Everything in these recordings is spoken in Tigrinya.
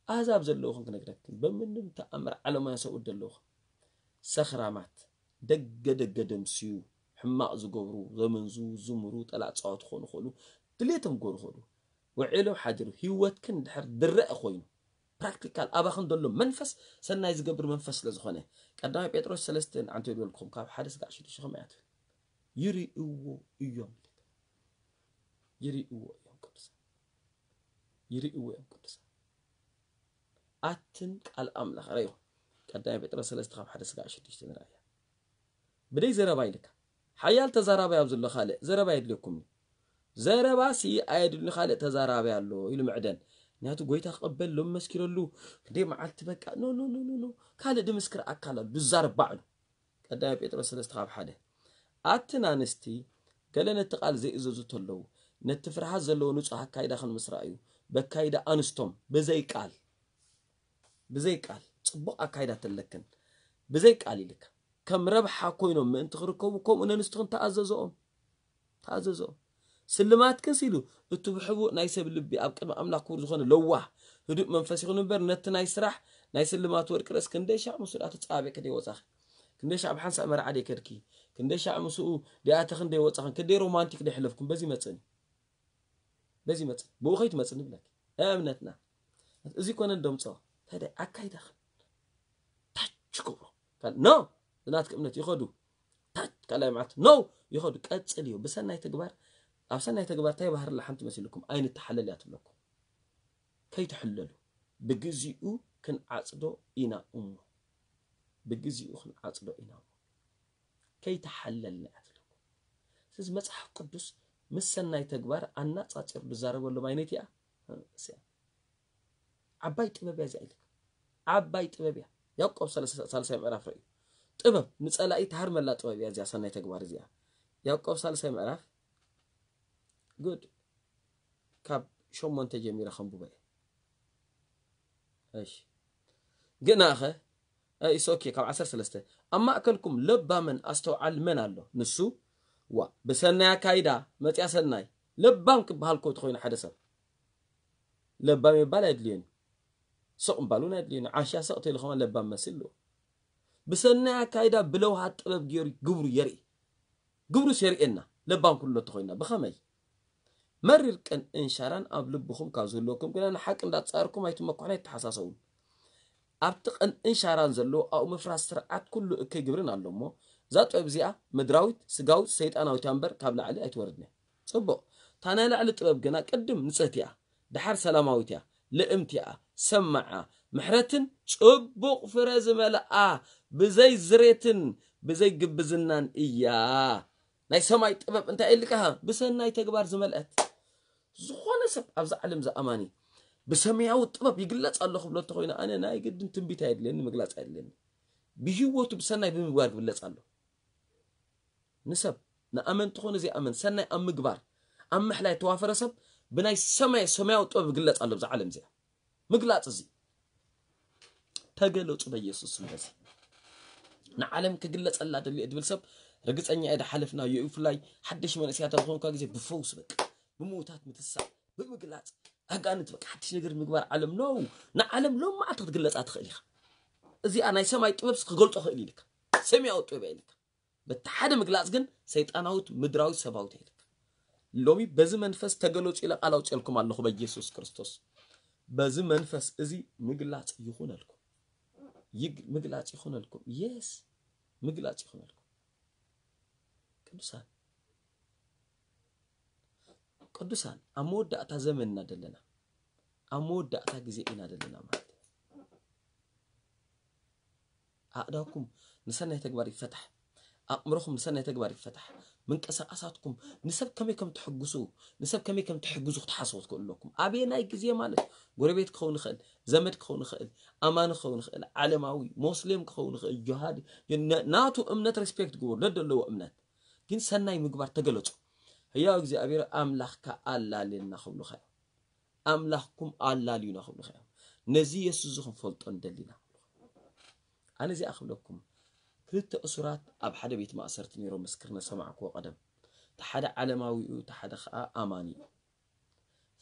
ኣህዛብ ዘለውኹም ክነግረክን፣ በምንም ተኣምር ዓለማውያን ሰብኡት ዘለውኹም ሰኽራማት፣ ደገ ደገ ደምስዩ፣ ሕማቕ ዝገብሩ፣ ዘመንዙ፣ ዝምሩ፣ ጠላዕ ጻወት ክኾኑ ይኽእሉ፣ ድሌቶም ክገብሩ ይኽእሉ። ውዒሎም ሓዲሩ ህይወትክን ድሕር ድረአ ኮይኑ፣ ፕራክቲካል ኣባኽን ዘሎ መንፈስ ሰናይ ዝገብር መንፈስ ስለ ዝኾነ፣ ቀዳማይ ጴጥሮስ ሰለስተ ንዓንተ ይበልኩም፣ ካብ ሓደ ስጋዕ ሽዱሽተ ከመይ ኣትብል? ይርእዎ እዮም። ይርእዎ እዮም ቅዱሳን። ይርእዎ እዮም ቅዱሳን። ኣትን ቃል ኣምላኽ ረዩ። ቀዳማይ ጴጥሮስ ሰለስተ ካብ ሓደ ስጋዕ ሽዱሽተ ንርኣያ። ብደይ ዘረባ ኢልካ ሓያል ተዛራባይ ኣብ ዘሎ ካልእ ዘረባ የድልየኩም እዩ። ዘረባ ሲ ኣየድልኒ ካልእ ተዛራባይ ኣሎ ኢሉ ምዕደን። ምክንያቱ ጎይታ ክቕበል ሎም መስኪረሉ ክንደይ መዓልቲ በቃ ኖ ኖ ኖ ኖ ኖ ካልእ ድምስክር ኣካል ኣሎ ድዛረብ ባዕሉ። ቀዳማይ ጴጥሮስ ሰለስተ ካብ ሓደ ኣትን ኣንስቲ ገለ ነቲ ቃል ዘይእዘዙ ተለዉ ነቲ ፍርሃት ዘለዎ ንጹሕ ኣካይዳ ክንምስራ እዩ። በካይዳ ኣንስቶም ብዘይ ቃል ብዘይ ቃል ጽቡቕ ኣካይዳ ተለክን ብዘይ ቃል ኢልካ ከም ረብሓ ኮይኖም ምእንቲ ክርከቡ ከምኡ ነንስትኽን ተኣዘዘኦም። ተኣዘዞ። ስልማትክንስ ኢሉ፣ እቱ ብሕቡእ ናይ ሰብ ልቢ ኣብ ቅድሚ ኣምላኽ ክቡር ዝኾነ ለዋህ ህዱእ መንፈስ ይኹን እምበር፣ ነቲ ናይ ስራሕ ናይ ስልማት ወርቂ ርእስ ክንደይ ሻዕ ምስኡ ደኣ ትጻባበቂ ክንደይ ወጻኺ? ክንደይ ሻዕ ብሓንሳእ መርዓ ደይ ከድኪ? ክንደይ ሻዕ ምስኡ ደኣተኽን ደይ ወጻኽን? ክንደይ ሮማንቲክ ደይ ሕለፍኩም? በዚ መጽእኒ። በዚ መጽእኒ። ብኡ ከይትመጽእኒ ብለኪ። እምነትና። እዚ ኮነ እንደምጾ። ታዲያ ኣካይዳኽን ታች ክብሮ። ካል- ኖ! ዝናትክ እምነት ይኸዱ። ታች ካልኣይ መዓልቲ ኖ! ይኸዱ። ቀጽል እዩ። ብሰናይ ተግባር ኣብ ሰናይ ተግባር እንታይ ባህርላ ሓንቲ መሲልኩም ኣይንተሓለል እያ ትብለኩም። ከይትሕለሉ። ብግዚኡ ክንዓጽዶ ኢና እሞ። ብግዚኡ ክንዓጽዶ ኢና እሞ። ከይተሓለልና እያ ትብለኩም። ስለዚ መጽሓፍ ቅዱስ ምስ ሰናይ ተግባር ኣናጻጺሩ ዝዛረበሎም ዓይነት እያ። እስያ። ዓባይ ጥበብ እያ እዚኣ ኢልካ። ዓባይ ጥበብ እያ። ያዕቆብ ሰለሳ- ሳልሳይ ምዕራፍ ርእዩ። ጥበብ ንጸላኢ ትሃርመላ ጥበብ እያ እዚኣ ሰናይ ተግባር እዚኣ። ያዕቆብ ሳልሳይ ምዕራፍ ጉድ ካብ ሸሞንተ ጀሚረ ከንብቦ እየ። እሺ ግናኸ ኢስ ኦኬ ካብ ዓሰርተ ሰለስተ ኣብ ማእከልኩም ለባምን ኣስተውዓል መን ኣሎ ንሱ ዋ ብሰናይ ኣካይዳ መጽያ ሰናይ ለባም ክበሃል ኮ ተኾይኑ ሓደ ሰብ ለባም ይባል ኣየድልዮን ስቕ ምባል እውን ኣየድልዮን ዓሻ ስቕ ተይሉ ከማ ለባም መስል ኣለዎ ብሰናይ ኣካይዳ ብለውሃት ጥበብ ገይሩ ግብሩ የርኢ ግብሩስ የርእየና ለባም ኩሉ ተኾይና ብኸመይ መሪር ቅንእን ሻራን ኣብ ልብኹም ካብ ዝህልወኩም ግና ንሓቂ እንዳተጻረርኩም ኣይትመኩሑን ኣይትተሓሳሰቡን ኣብቲ ቅንእን ሻራን ዘለዎ ኣብኡ ምፍራስ ስርዓት ኩሉ እከይ ግብርን ኣሎ እሞ እዛ ጥበብ እዚኣ ምድራዊት ስጋዊት ሰይጣናዊት እያ እምበር ካብ ላዕሊ ኣይትወርድን እያ ጽቡቕ እታ ናይ ላዕሊ ጥበብ ግና ቅድም ንጽህቲ እያ ደሓር ሰላማዊት እያ ልእምቲ እያ ሰማዓ ምሕረትን ጽቡቕ ፍረ ዝመልኣ ብዘይ ዝሬትን ብዘይ ግብዝናን እያ ናይ ሰማይ ጥበብ እንታይ ኢልካ ብሰናይ ተግባር ዝመልአት ዝኾነ ሰብ ኣብዚ ዓለም ዝኣማኒ ብሰማያዊ ጥበብ ይግለጽ ኣሎ ክብሎ እንተኮይኑ ኣነ ናይ ግድን ትንቢት ኣየድልየኒ ምግላጽ ኣየድልየኒ ብህይወቱ ብሰናይ ብምግባር ክብለጽ ኣሎ ንሰብ ንኣመንቲ ኮነ ዘይኣመን ሰናይ ኣብ ምግባር ኣብ ምሕላይ ተዋፈረ ሰብ ብናይ ሰማይ ሰማያዊ ጥበብ ይግለጽ ኣሎ ብዛ ዓለም እዚኣ ምግላጽ እዚ ተገለጹ በኢየሱስ ስም በዚ ንዓለም ክግለጸላ ደልየ ድብል ሰብ ርግጸኛ እየ ሓለፍና ይኡ ፍላይ ሓደሽ መንእስያት ኣብ ዝኾንካ ግዜ ብፈውስ በቃ ብምውታት ምትሳእ ብምግላጽ ኣጋንንት በቃ ሓድሽ ነገር ምግባር ዓለም ነው ንዓለም ሎም መዓልቲ ክትግለጻ ትኽእል ኢኻ እዚኣ ናይ ሰማይ ጥበብስ ክገልጾ ክእል ኢልካ ሰማያዊ ጥበብ ኢልካ በቲ ሓደ ምግላጽ ግን ሰይጣናዊት ምድራዊት ሰባዊት ኢልካ ሎሚ በዚ መንፈስ ተገለጹ ኢለ ቃል ኣውፅልኩም ኣለኹ በኢየሱስ ክርስቶስ በዚ መንፈስ እዚ ምግላጽ ይኹነልኩም ምግላጽ ይኹነልኩም የስ ምግላጽ ይኹነልኩም ቅዱሳን ቅዱሳን ኣብ መወዳእታ ዘመን ኢና ዘለና ኣብ መወዳእታ ግዜ ኢና ዘለና ማለት እዩ ኣእዳውኩም ንሰናይ ተግባር ይፈታሕ ኣእምሮኹም ንሰናይ ተግባር ይፈታሕ ምንቀሳቀሳትኩም ንሰብ ከመይ ከም ትሕግሱ ንሰብ ከመይ ከም ትሕግዙ ክትሓስቡ ትክእሉ ኣለኩም ኣበየናይ ግዜ ማለት ጎረቤት ክኸውን ይኽእል ዘመድ ክኸውን ይኽእል ኣማኒ ክኸውን ይኽእል ዓለማዊ ሞስሌም ክኸውን ይኽእል ጆሃድ ናቱ እምነት ሬስፔክት ግበሩ ደደለዎ እምነት ግን ሰናይ ምግባር ተገለጹ ህያው እግዚኣብሔር ኣምላኽካ ኣላልየና ክብሉኻ እዮም ኣምላኽኩም ኣላልዩና ክብሉኻ እዮም ነዚ የሱስ እዚ ክንፈልጦ ንደሊና ኣነ እዚኣ ክብለኩም ክልተ እሱራት ኣብ ሓደ ቤት ማእሰርቲ ነይሮም ምስክርነት ሰማዕክዎ ቀደም እቲ ሓደ ዓለማዊ እዩ እቲ ሓደ ከዓ ኣማኒ እዩ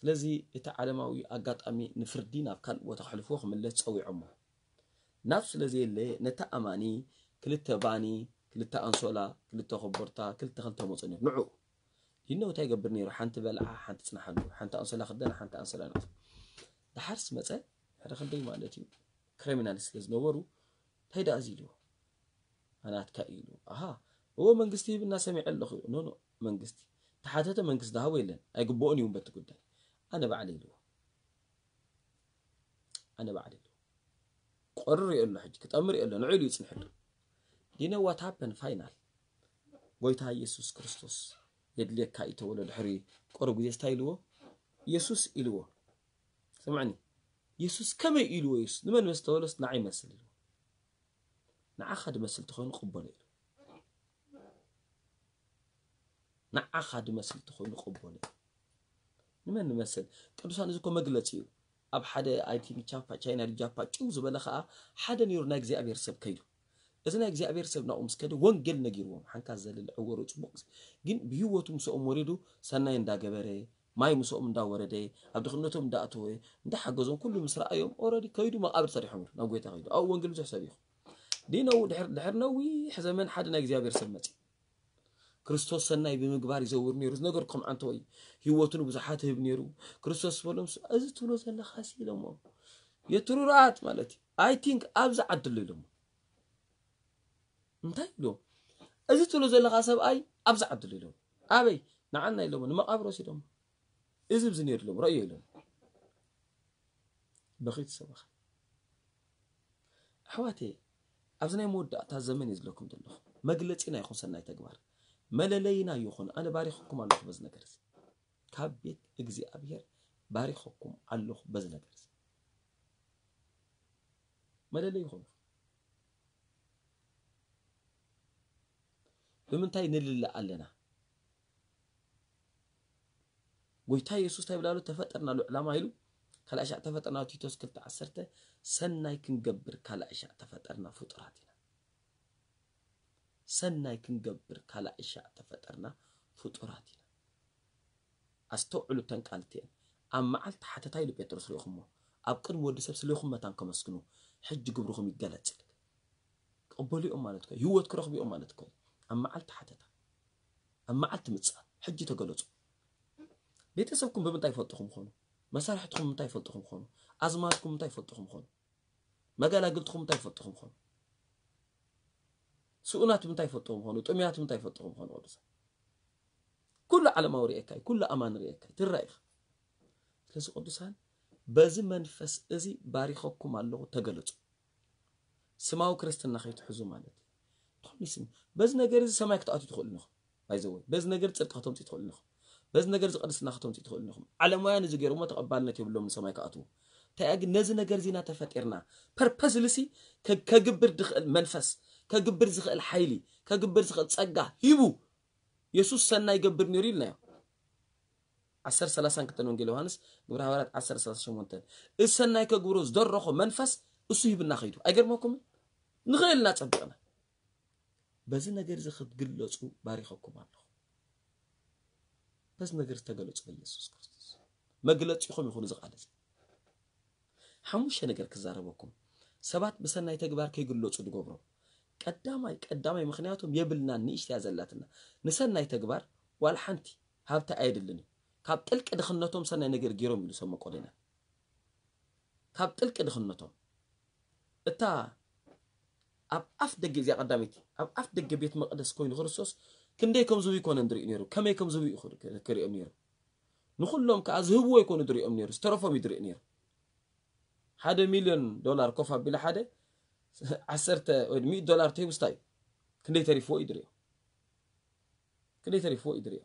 ስለዚ እቲ ዓለማዊ ኣጋጣሚ ንፍርዲ ናብ ካልእ ቦታ ክሕልፍዎ ክምለስ ጸዊዖሞ። ናብ ስለ ዘየለ ነቲ ኣማኒ ክልተ ባኒ፣ ክልተ ኣንሶላ፣ ክልተ ኮቦርታ፣ ክልተ ክልተ መጾ ነይሩ። ንዑ ዲኖ እንታይ ይገብር ነይሩ? ሓንቲ በልዓ፣ ሓንቲ ጽንሓሉ፣ ሓንቲ ኣንሶላ ክደን፣ ሓንቲ ኣንሶላ ነቕፍ። ደሓርስ መጸ፣ ሓደ ክንደይ ማለት እዩ? ክሪሚናል ስለ ዝነበሩ እንታይ ደኣ እዚ ኢልዎ? ኣናትካ እዩ ኢልዎ። ኣሃ፣ እዎ መንግስቲ ሂብና ሰሚዐ ኣለኹ። ኖ፣ ኖ፣ መንግስቲ ተሓተተ፣ መንግስቲ ዝሃቦ የለን። ኣይግብኦን እዩ በቲ ጉዳይ። ኣነ ባዕለ ኢልዎ። ኣነ ባዕለ ኢልዎ። ቆርር እዩ ኣሎ ሕጂ፣ ክጠምር እዩ ኣሎ። ንዑ ኢሉ ይጽንሐሉ። ዲነ what happen final? ጎይታ ኢየሱስ ክርስቶስ የድልየካ እዩ ተበሎ። ድሕሪ ቆረብ ግዜ እንታይ ኢልዎ? ኢየሱስ ኢልዎ። ስምዕኒ፣ ኢየሱስ ከመይ ኢልዎ? ኢየሱስ ንመን መስ ተበሎስ ንዓይ መስል ኢልዎ። ንዓኻ ድመስል ተኾይኑ ቅበሎ ኢሉ። ንዓኻ ድመስል ተኾይኑ ቅበሎ ኢሉ። ንመን ንመስል? ቅዱሳን እዚ እኮ መግለጺ እዩ። ኣብ ሓደ፣ I think፣ ቻምፓ፣ ቻይና ድጃፓ ጭው ዝበለ ኸዓ ሓደ ነይሩ ናይ እግዚኣብሔር ሰብ ከይዱ። እዚ ናይ እግዚኣብሔር ሰብ ናብኡ ምስ ከደ ወንጌል ነጊርዎም። ሓንካ ዘልል ዕወሩ ጽቡቕ፣ ግን ብህይወቱ ምስኦም ወሪዱ ሰናይ እንዳገበረ፣ ማይ ምስኦም እንዳወረደ፣ ኣብ ድኽነቶም እንዳኣተወ፣ እንዳሓገዞም ኩሉ ምስ ረኣዮም፣ ኦረዲ ከይዱ መቓብር ሰሪሖም ኢሉ ናብ ጎይታ ከይዱ። ኣብኡ ወንጌል ብዙሕ ሰብ ይኹ። ዲነው ድሕር፣ ድሕር ነዊሕ ዘመን ሓደ ናይ እግዚኣብሔር ሰብ መጺ። ክርስቶስ ሰናይ ብምግባር ይዘውር ነይሩ። ዝነገርኩም ዓንተወይ፣ ህይወቱ ንብዙሓት ህብ ነይሩ። ክርስቶስ በሎም፣ "እዚ ትብሎ ዘለኻ ሲ?" ኢሎሞ። "የትሩራት ማለት እዩ። I think ኣብዚ ዓድሉ" ኢሎሞ። እንታይ ኢሎም? "እዚ ትብሎ ዘለኻ ሰብኣይ ኣብዚ ዓድሉ" ኢሎም። "ኣበይ?" "ንዓና" ኢሎሞ። ንመቓብር ወሲዶሞ። "እዚ ብዚ ነይሩ" ኢሎም። "ረእዮ" ኢሎም። በኺት ሰበኻ። ኣሕዋቴ፣ ኣብዚ ናይ መወዳእታ ዘመን እዩ ዝለኩም ዘለኹ። መግለጺና ይኹን ሰናይ ተግባር። መለለይና ይኹን። ኣነ ባሪኽኩም ኣለኹ በዚ ነገር እዚ። ካብ ቤት እግዚኣብሔር ባሪኽኩም ኣለኹ በዚ ነገር እዚ። መለለይ ይኹን። ብምንታይ ንልለ ኣለና? ጎይታ የሱስ እንታይ ብላሉ? ተፈጠርናሉ ዕላማ ኢሉ። ካልኣይ ሻዕ ተፈጠርና፣ ቲቶስ ክልተ ዓሰርተ፣ ሰናይ ክንገብር ካልኣይ ሻዕ ተፈጠርና ፍጡራት ኢና። ሰናይ ክንገብር ካልኣይ ሻዕ ተፈጠርና ፍጡራት ኢና። ኣስተውዕሉ፣ እተን ቃል እቲኤን። ኣብ መዓልቲ ሓተታ ኢሉ ጴጥሮስ ርኢኹሞ፣ ኣብ ቅድሚ ወዲ ሰብ ስሌኹም መታን ከመስግኑ፣ ሕጂ ግብርኹም ይገለጽ። ቅበሉኦም ማለት እኮ እዩ። ህይወት ክረኽቡኦም ማለት እኮ እዩ። ኣብ መዓልቲ ሓተታ፣ ኣብ መዓልቲ ምጽኣት፣ ሕጂ ተገለጹ። ቤተሰብኩም ብምንታይ ይፈልጥኹም ኾኑ? መሳርሕትኹም ምንታይ ይፈልጥኹም ኾኑ? ኣዝማድኩም ምንታይ ይፈልጥኹም ኾኑ? መጋላግልትኹም ምንታይ ይፈልጥኹም ኾኑ? ስኡናት ምንታይ ይፈልጥኹም ኾኑ? ጥሙያት ምንታይ ይፈልጥኹም ኾኑ? ቅዱሳን፣ ኩሉ ዓለማዊ ርእየካ እዩ፣ ኩሉ ኣማኒ ርእየካ እዩ፣ ትረኣ ኢኻ። ስለዚ ቅዱሳን፣ በዚ መንፈስ እዚ ባሪኸኩም ኣለኹ፣ ተገለጹ። ስማዊ ክርስትና ከይትሕዙ ማለት እዩ። ትኹን ይስም-፣ በዚ ነገር እዚ ሰማይ ክትኣትዩ ትኽእሉ ኢኹም። ባይ ዘ ወይ፣ በዚ ነገር ጽድቂ ከተምጽኡ ትኽእሉ ኢኹም። በዚ ነገር እዚ ቅድስና ከተምጽኡ ትኽእሉ ኢኹም። ዓለማውያን እዚ ገይሮሞ ተቐባልነት የብሎም ንሰማይ ክኣትዉ። እንታይ ግን ነዚ ነገር እዚ ኢና ተፈጢርና። ፐርፐስሊ ሲ ከ-፣ ከግብር ዝኽእል መንፈስ፣ ከግብር ዝኽእል ሓይሊ፣ ከግብር ዝኽእል ጸጋ ሂቡ። የሱስ ሰናይ ይገብር ነይሩ ኢልናዮ። ዓሰርተ ሰላሳን ክልተን ወንጌል ዮሃንስ፣ ግብረ ሃዋርያት ዓሰርተ ሰላሳ ሸሞንተ። እዚ ሰናይ ከግብሮ ዝደረኾ መንፈስ እሱ ሂብና ከይዱ። ኣይገርመኩምን? ንኽእል ኢና ጸቢቕና። በዚ ነገር እዚ ክትግለጹ ባሪኸኩም ኣለኹ። በዚ ነገር ዝተገለጹ በኢየሱስ ክርስቶስ። መግለጺኹም ይኹን እዚ ቃል እዚ። ሓሙሽተ ነገር ክዛረበኩም። ሰባት ብሰናይ ተግባር ከይግለጹ ዝገብሮም። ቀዳማይ፣ ቀዳማይ ምኽንያቶም የብልናን፣ ንእሽተያ ዘላትና። ንሰናይ ተግባር ዋላ ሓንቲ ሃብቲ ኣየድልን እዩ። ካብ ጥልቂ ድኽነቶም ሰናይ ነገር ገይሮም ኢሉ ሰብ መቄዶንያ። ካብ ጥልቂ ድኽነቶም። እታ ኣብ ኣፍ ደገ፣ እዚኣ ቀዳመይቲ፣ ኣብ ኣፍ ደገ ቤት መቕደስ ኮይኑ ክርስቶስ ክንደይ ከም ዝህቡ ኣይኮነን ዝርኢ ነይሩ፣ ከመይ ከም ዝህቡ እዩ ክር-፣ ክርእዮም ነይሩ። ንኹሎም ከኣ ዝህብዎ ኣይኮኑ ዝርእዮም ነይሩ፣ ዝተረፎም እዩ ዝርኢ ነይሩ። ሓደ ሚልዮን ዶላር ኮፍ ኣቢሉ ሓደ ዓሰርተ ወይ ሚእቲ ዶላር ተሂቡስ እንታይ እዩ? ክንደይ ተሪፍዎ እዩ ዝርእዮ። ክንደይ ተሪፍዎ እዩ ዝርእዮ።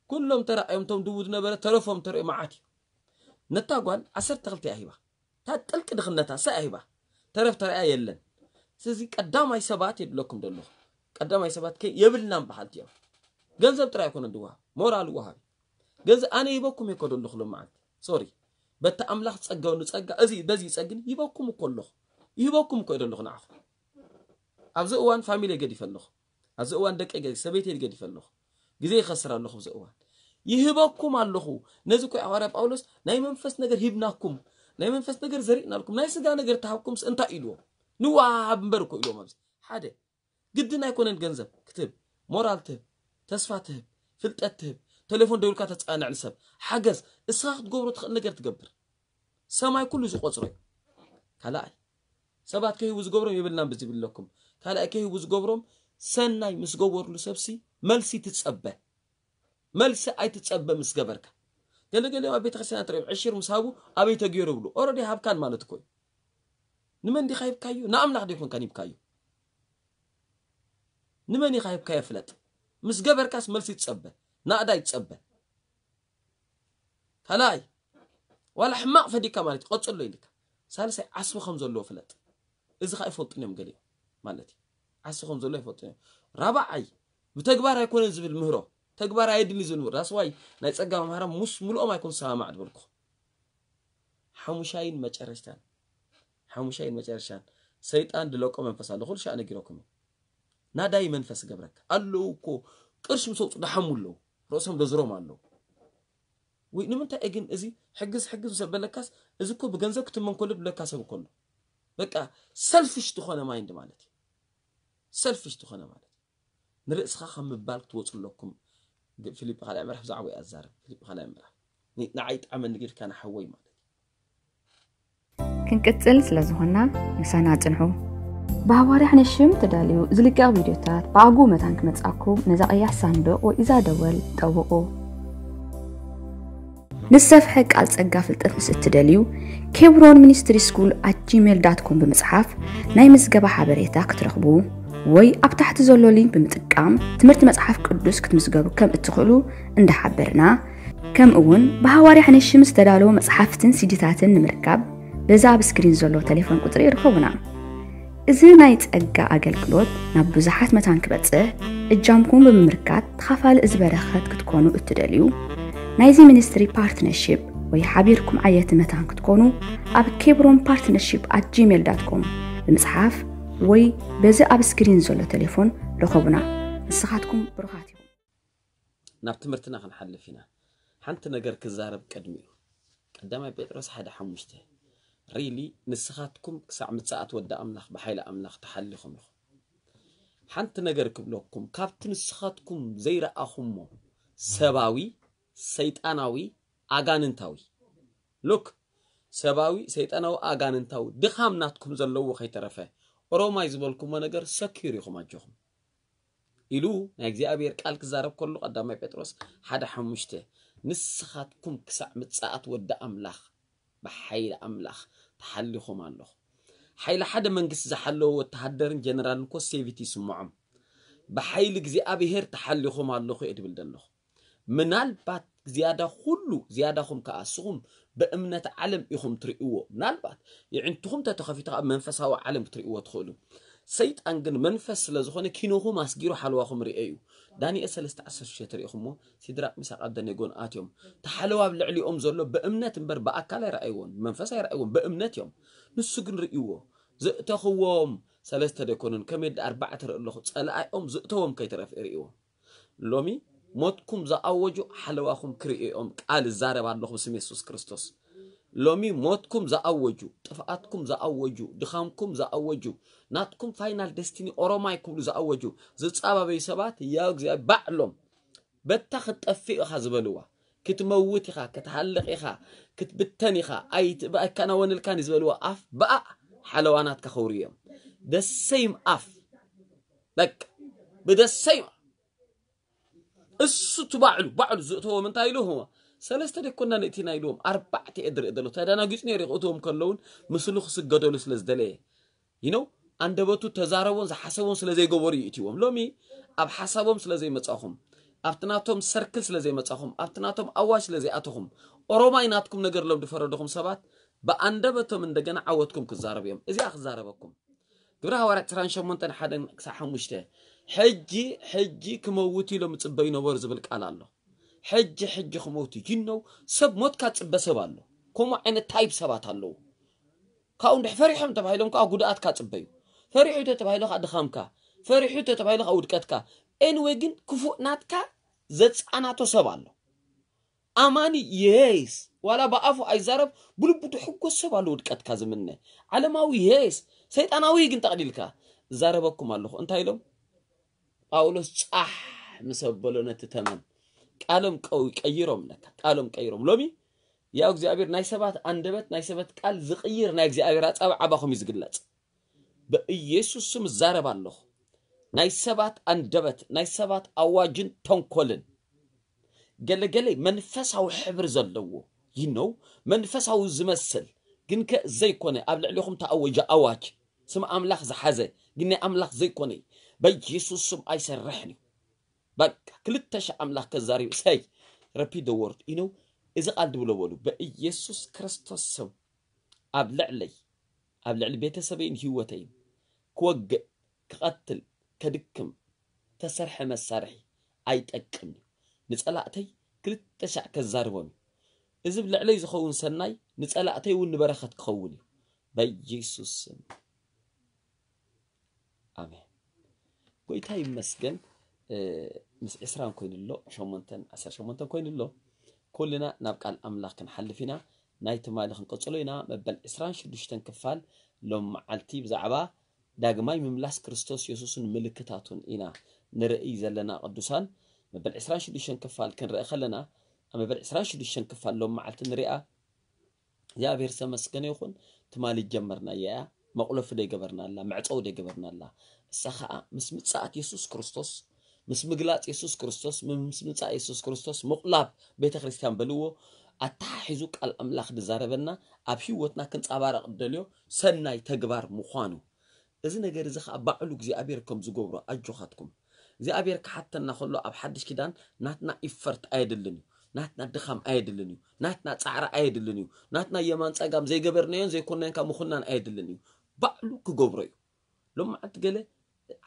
ኩሎም ተራእዮም፣ እቶም ድቡ ዝነበረ ተረፎም ተርእዮ መዓት እዩ። ነታ ጓል ዓሰርተ ክልተ እያ ሂባ። እታ ጥልቂ ድኽነታ እሳ እያ ሂባ። ተረፍ ተራእያ የለን። ስለዚ ቀዳማይ ሰባት የብለኩም ዘለኹ። ቀዳማይ ሰባት ከ የብልናን በሃልቲ እዮም። ገንዘብ ጥራይ ኣይኮነን ዝወሃብ፣ ሞራል ወሃቢ። ገንዘብ ኣነ ይበኩም እኮ ዘለኹ ሎም መዓልቲ። ሶሪ። በቲ ኣምላኽ ጸጋው ንጸጋ፣ እዚ በዚ ጸግን ይበኩም እኮ ኣለኹ። ይበኩም እኮ ዘለኹ ንዓኹም። ኣብዚ እዋን ፋሚሊ ገዲፈ ኣለኹ። ኣብዚ እዋን ደቀይ ገዲፈ፣ ሰበይተይ ገዲፈ ኣለኹ። ግዜ ይኸስር ኣለኹ ኣብዚ እዋን። ይህበኩም ኣለኹ። ነዚ እኮ እዩ ሃዋርያ ጳውሎስ ናይ መንፈስ ነገር ሂብናኩም፣ ናይ መንፈስ ነገር ዘሪእናልኩም፣ ናይ ስጋ ነገር ተሃብኩምስ እንታይ ኢልዎም? ንወሃብ እምበር እኮ ኢልዎም። ኣብዚ ሓደ ግድን ኣይኮነን ገንዘብ ክትህብ፣ ሞራል ትህብ፣ ተስፋ ትህብ፣ ፍልጠት ትህብ፣ ቴሌፎን ደውልካ ተጻንዕ ንሰብ ሓገዝ፣ እስኻ ክትገብሮ ትኽእል ነገር ትገብር። ሰማይ ኩሉ ዝቆጽሮ እዩ። ካልኣይ ሰባት ከይህቡ ዝገብሮም የብልናን ብዝብል ኣለኩም። ካልኣይ ከይህቡ ዝገብሮም ሰናይ ምስ ገበርሉ ሰብሲ መልሲ ትጸበ። መልሲ ኣይትጸበ ምስ ገበርካ። ገለገለ ኣብ ቤተክርስትያን ትሪኦም ዕሽር ምስ ሃቡ ኣበይ ተገይሩ ብሉ። ኦረዲ ሃብካን ማለት እኮ እዩ። ንመን ዲኻ ሂብካዮ? ንኣምላኽ ዶ ይኮንካን ሂብካዮ? ንመን ኢኻ ሂብካዮ ፍለጥ። ምስ ገበርካስ መልሲ ትጸበ። ናእዳ ይጸበ። ካልኣይ ዋላ ሕማቕ ፈዲካ ማለት እዩ፣ ቀጽሎ ኢልካ። ሳልሳይ ዓስቢ ከም ዘለዎ ፍለጥ። እዚ ኸዓ ይፈልጡን እዮም ገሊኦም ማለት እዩ። ዓስቢ ከም ዘሎ ይፈልጡን እዮም። ራብዓይ ብተግባር ኣይኮነን ዝብል ምህሮ። ተግባር ኣየድሊ ዝብል ምህሮ። ዳስዋይ ናይ ጸጋ መምህራን ምስ ምልኦም ኣይኮን ዝሰማማዕ ዝበልኩ። ሓሙሻይን መጨረሽታን፣ ሓሙሻይን መጨረሻን ሰይጣን ድለቆ መንፈስ ኣሎ። ኩሉ ሻዕ ነጊረኩም እዩ። ናዳይ መንፈስ ገብረካ ኣለዉ እኮ ቅርሺ ምስ ኣውፁ ደሓሙ ኣለዉ። ርእሶም ደዝሮም ኣለዉ። ወይ ንምንታይ ግን እዚ ሕግዝ ሕግዝ ምስ በለካስ፣ እዚ እኮ ብገንዘብ ክትመን ከሎ ድብለካ ሰብ እኮ ኣሎ። በቃ ሰልፊሽ ዝኾነ ማይንድ ማለት እዩ። ሰልፊሽ ዝኾነ ማለት እዩ። ንርእስኻ ከም ምባል ክትወፁ ኣለኩም። ግ- ፊልጲ ካልኣይ ምዕራፍ ብዛዕባ እዩ ኣዛርብ። ፊልጲ ካልኣይ ምዕራፍ ን- ንዓይ ጣዕመኒ ጌርካ ንሓወይ ማለት እዩ። ክንቅጽል ስለ ዝኾንና ምሳና ጽንሑ። ብሃዋርያ ሕነሽም ተዳልዩ ዝልቀቕ ቪድዮታት ብኣግኡ መታን ክመጻኩም ነዛ ቀያሕ ሳንዱቕ ወይ እዛ ደወል ጠውቑ። ንሰፍሐ ቃል ጸጋ ፍልጠት ምስ እትደልዩ ኬብሮን ሚኒስትሪ ስኩል ኣት ጂሜል ዳት ኮም ብምጽሓፍ ናይ ምዝገባ ሓበሬታ ክትረኽቡ ወይ ኣብ ታሕቲ ዘሎ ሊንክ ብምጥቃም ትምህርቲ መጽሓፍ ቅዱስ ክትምዝገቡ ከም እትኽእሉ እንዳሓበርና፣ ከምኡ እውን ብሃዋርያ ሕነሽም ዝተዳለወ መጽሓፍትን ሲዲታትን ንምርካብ በዚ ኣብ ስክሪን ዘሎ ቴሌፎን ቁጽሪ ይርከቡና። እዚ ናይ ጸጋ ኣገልግሎት ናብ ብዙሓት መታን ክበጽሕ እጃምኩም ብምምርካት ተኻፋሊ እዚ በረኸት ክትኮኑ እትደልዩ፣ ናይዚ ሚኒስትሪ ፓርትነርሺፕ ወይ ሓቢርኩም ዓየቲ መታን ክትኮኑ ኣብ ኬብሮን ፓርትነርሺፕ ኣት ጂሜል ዳት ኮም ብምጽሓፍ ወይ በዚ ኣብ ስክሪን ዘሎ ቴሌፎን ርኸቡና። ንስኻትኩም ብሩኻት ኢኹም። ናብ ትምህርትና ክንሓልፍ ኢና። ሓንቲ ነገር ክዛረብ ቅድሚኡ፣ ቀዳማይ ጴጥሮስ ሓደ ሓሙሽተ፣ ሪሊ ንስኻትኩም ክሳዕ ምጽኣት ወዲ ኣምላኽ ብሓይሊ ኣምላኽ ተሓሊኹም ኢኹም። ሓንቲ ነገር ክብለኩም፣ ካብቲ ንስኻትኩም ዘይረኣኹሞ ሰባዊ፣ ሰይጣናዊ፣ ኣጋንንታዊ፣ ሉክ፣ ሰባዊ፣ ሰይጣናዊ፣ ኣጋንንታዊ ድኻም ናትኩም ዘለዎ ከይተረፈ፣ ኦሮማይ ዝበልኩሞ ነገር ሰኪር ኢኹም ኣጆኹም ኢሉ ናይ እግዚኣብሔር ቃል ክዛረብ ከሎ፣ ቀዳማይ ጴጥሮስ ሓደ ሓሙሽተ፣ ንስኻትኩም ክሳዕ ምጽኣት ወዲ ኣምላኽ ብሓይሊ ኣምላኽ ተሓሊኹም ኣለኹም። ሓይሊ ሓደ መንግስቲ ዝሓለወ ወተሃደርን ጀነራልን እኮ ሴቪቲ ይስምዖም። ብሓይሊ እግዚኣብሔር ተሓሊኹም ኣለኹ እየ ድብል ዘለኹ። ምናልባት ዝያዳ ኩሉ ዝያዳኹም ከኣ እስኹም ብእምነት ዓለም ኢኹም ትርእይዎ። ምናልባት የዕንትኹም ተተኸፊቱ ኣብ መንፈሳዊ ዓለም ክትርእይዎ ትኽእሉ። ሰይጣን ግን መንፈስ ስለ ዝኾነ ኪኖኹም ኣስጊሩ ሓለዋኹም ርእዮ እዩ። ዳንኤል ሰለስተ ዓሰርተ ሽዱሽተ ርኢኹሞ፣ ሲድራቅ ሚሳቅ ኣብደኔጎን ኣትዮም። ተሓለዋ ኣብ ልዕሊኦም ዘሎ ብእምነት እምበር ብኣካል ኣይረኣይዎን፣ ብመንፈስ ኣይረኣይዎን፣ ብእምነት እዮም። ንሱ ግን ርእይዎ። ዘእተኽዎም ሰለስተ ደይኮኑን ከመይ ዳ ኣርባዕተ ርኢ ኣለኹ፣ ጸላኢኦም ዝእተዎም ከይተረፍ ርእይዎም። ሎሚ ሞትኩም ዝኣወጁ ሓለዋኹም ክርእዮም ቃል እዛረብ ኣለኹ ብስም የሱስ ክርስቶስ። ሎሚ ሞትኩም ዝኣወጁ፣ ጥፍኣትኩም ዝኣወጁ፣ ድኻምኩም ዝኣወጁ፣ ናትኩም ፋይናል ደስቲኒ ኦሮማይ ክብሉ ዝኣወጁ ዝጻባበዩ ሰባት ያው እግዚኣብሔር ባዕሎም በታ ክትጠፍእ ኢኻ ዝበልዋ፣ ክትመውት ኢኻ፣ ክትሃልቕ ኢኻ፣ ክትብተን ኢኻ፣ ኣይት- ኣይከናወንልካን እዩ ዝበልዋ ኣፍ ብኣ ሓለዋናትካ ከውርዮም። ደሰይም ኣፍ በቃ ብደሰይም እሱ እቲ ባዕሉ ባዕሉ ዝእተዎም እንታይ ኢሉ ህዋ ሰለስተ ደኮና ንእቲና ኢልዎም ኣርባዕተ እየ ድርኢ ዘሎ ተደናጊጹ ነይሩ ክእትዎም ከለውን ምስሉ ክስገደሉ ስለ ዝደለየ ይነው። ኣንደበቱ ተዛረቦን ዝሓሰቦን ስለ ዘይገበሩ እዩ እትዎም። ሎሚ ኣብ ሓሳቦም ስለ ዘይመጻኹም፣ ኣብቲ ናቶም ሰርክል ስለ ዘይመጻኹም፣ ኣብቲ ናቶም ኣዋጅ ስለ ዘይኣተኹም፣ ኦሮማይ ናትኩም ነገር ሎም ዝፈረደኹም ሰባት ብኣንደበቶም እንደገና ዓወትኩም ክዛረቡ እዮም። እዚኣ ክዛረበኩም ግብረ ሃዋርያት ዕስራን ሸሞንተን ሓደን ክሳብ ሓሙሽተ። ሕጂ ሕጂ ክመውት ኢሎም ይጽበዩ ነበሩ ዝብል ቃል ኣሎ። ሕጂ ሕጂ ክመውት ይነው። ሰብ ሞትካ ጽበ ሰብ ኣሎ። ከምኡ ዓይነት ታይፕ ሰባት ኣለዉ። ካብኡ እንድሕ ፈሪሖም ተባሂሎም ከዓ ጉድኣትካ ጽበዩ። ፈሪሑ ተተባሂሉ ከዓ ድኻምካ፣ ፈሪሑ ተተባሂሉ ከዓ ውድቀትካ። ኤንወይ ግን ክፉእ ናትካ ዘጻናቶ ሰብ ኣሎ። ኣማኒ የስ ዋላ ብኣፉ ኣይዛረብ፣ ብልቡ ድሕጎስ ሰብ ኣሎ ውድቀትካ ዝምነ። ዓለማዊ የስ ሰይጣናዊ ግን ጠቕሊልካ። እዛረበኩም ኣለኹ። እንታይ ኢሎም? ጳውሎስ ጻሕ ምስ ኣበሎ ነቲ ተመን ቃሎም ቀው-፣ ቀይሮም ለካ፣ ቃሎም ቀይሮም። ሎሚ ያው እግዚኣብሔር ናይ ሰባት ኣንደበት፣ ናይ ሰባት ቃል ዝቕይር ናይ እግዚኣብሔር ኣጻብዕ ኣባኹም እዩ ዝግለጽ። በኢየሱስ ስም እዛረብ ኣለኹ። ናይ ሰባት ኣንደበት፣ ናይ ሰባት ኣዋጅን ተንኮልን ገለገለ መንፈሳዊ ሕብሪ ዘለዎ ይነው መንፈሳዊ ዝመስል ግን ከ ዘይኮነ ኣብ ልዕሊኹም ተኣወጀ ኣዋጅ ስም ኣምላኽ ዝሓዘ ግን ናይ ኣምላኽ ዘይኮነ በኢየሱስ ስም ኣይሰርሕን እዩ። በቃ ክልተ ሺህ ኣምላኽ ከዛሪብ ሰይ ረፒ ደ ወርድ ኢነው እዚ ቃል ድብሎ በሉ በኢየሱስ ክርስቶስ ስም ኣብ ልዕለይ ኣብ ልዕሊ ቤተሰበይን ህይወተይን ክወግእ ክቐትል ከድክም ተሰርሐ መሳርሒ ኣይጠቅም እዩ። ንጸላእተይ ክልተ ሻዕ ከዛርቦም እዩ። እዚ ብልዕለይ ዝኸውን ሰናይ ንጸላእተይ እውን ንበረኸት ክኸውን እዩ። በኢየሱስ ስም ኣሜን። ጎይታ ይመስገን። እ፣ ምስ ዕስራን ኮይኑ ኣሎ፣ ሸሞንተን፣ ዓሰርተ ሸሞንተን ኮይኑ ኣሎ። ኩልና ናብ ቃል ኣምላኽ ክንሓልፍ ኢና። ናይ ትማሊ ክንቀጽሎ ኢና። መበል ዕስራን ሽዱሽተን ክፋል ሎም መዓልቲ ብዛዕባ ዳግማይ ምምላስ ክርስቶስ የሱስን ምልክታቱን ኢና ንርእይ ዘለና ቅዱሳን። መበል ዕስራን ሽዱሽተን ክፋል ክንርኢ ከለና፣ ኣብ መበል ዕስራን ሽዱሽተን ክፋል ሎም መዓልቲ ንሪኣ። እግዚኣብሔር ዝተመስገነ ይኹን። ትማሊ ጀመርናያ እያ። መቑለፊ ዶ ይገበርና ኣላ፣ መዕፀዊ ዶ ይገበርና ኣላ። እሳ ኸዓ ምስ ምጽኣት የሱስ ክርስቶስ፣ ምስ ምግላጽ የሱስ ክርስቶስ፣ ምስ ምጽኣት የሱስ ክርስቶስ ምቑላብ ቤተ ክርስቲያን በልዎ ኣተሓሒዙ ቃል ኣምላኽ ዝዛረበና ኣብ ህይወትና ክንጸባረቕ ደልዮ ሰናይ ተግባር ምዃኑ። እዚ ነገር እዚ ኸዓ ባዕሉ እግዚኣብሔር ከም ዝገብሮ ኣጆኻትኩም። እግዚኣብሔር ክሓተና ከሎ ኣብ ሓድሽ ኪዳን ናትና ኢፈርት ኣየድልን እዩ። ናትና ድኻም ኣየድልን እዩ። ናትና ጻዕሪ ኣየድልን እዩ። ናትና የማን ጸጋም ዘይገበርናዮን ዘይኮንናዮን ካብ ምኹናን ኣየድልን እዩ። ባዕሉ ክገብሮ እዩ። ሎም መዓልቲ ገለ